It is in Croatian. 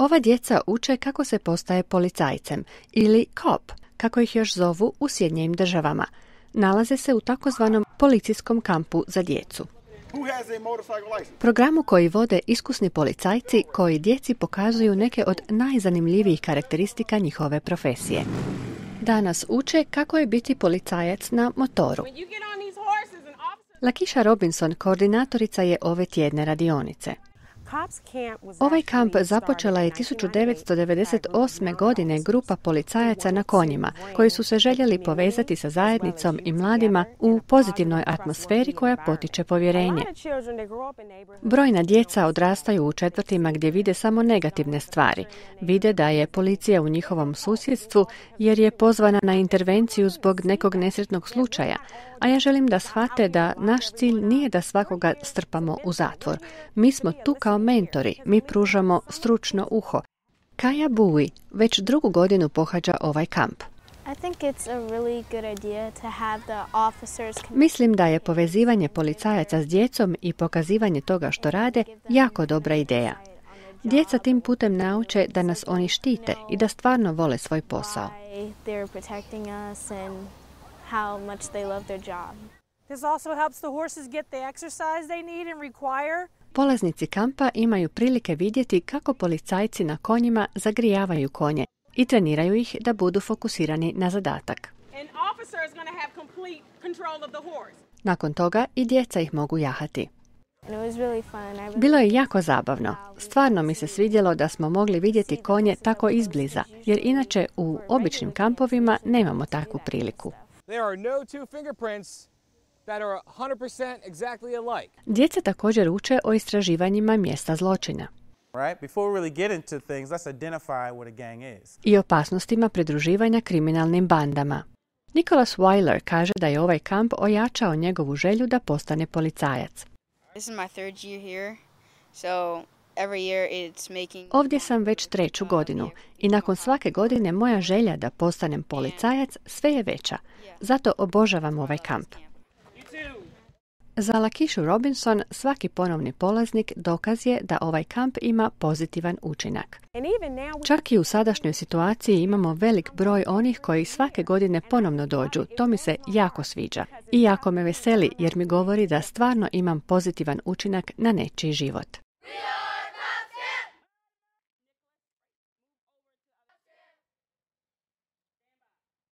Ova djeca uče kako se postaje policajcem ili cop, kako ih još zovu u Sjedinjenim Državama. Nalaze se u takozvanom policijskom kampu za djecu. Programu koji vode iskusni policajci koji djeci pokazuju neke od najzanimljivijih karakteristika njihove profesije. Danas uče kako je biti policajac na motoru. Lakeisha Robinson koordinatorica je ove tjedne radionice. Ovaj kamp započela je 1998. godine grupa policajaca na konjima, koji su se željeli povezati sa zajednicom i mladima u pozitivnoj atmosferi koja potiče povjerenje. Brojna djeca odrastaju u četvrtima gdje vide samo negativne stvari. Vide da je policija u njihovom susjedstvu jer je pozvana na intervenciju zbog nekog nesretnog slučaja, a ja želim da shvate da naš cilj nije da svakoga strpamo u zatvor. Mi smo tu kao mentori, mi pružamo stručno uho. Kaja Bui već drugu godinu pohađa ovaj kamp. Mislim da je povezivanje policajaca s djecom i pokazivanje toga što rade jako dobra ideja. Djeca tim putem nauče da nas oni štite i da stvarno vole svoj posao. Polaznici kampa imaju prilike vidjeti kako policajci na konjima zagrijavaju konje i treniraju ih da budu fokusirani na zadatak. Nakon toga i djeca ih mogu jahati. Bilo je jako zabavno. Stvarno mi se svidjelo da smo mogli vidjeti konje tako izbliza, jer inače u običnim kampovima nemamo takvu priliku. Djeca također uče o istraživanjima mjesta zločina i opasnostima pridruživanja kriminalnim bandama. Nicholas Weiler kaže da je ovaj kamp ojačao njegovu želju da postane policajac. Ovdje sam već 3. godinu i nakon svake godine moja želja da postanem policajac sve je veća. Zato obožavam ovaj kamp. Za Lakeishu Robinson svaki ponovni polaznik dokaz je da ovaj kamp ima pozitivan učinak. Čak i u sadašnjoj situaciji imamo velik broj onih koji svake godine ponovno dođu. To mi se jako sviđa. I jako me veseli jer mi govori da stvarno imam pozitivan učinak na nečiji život.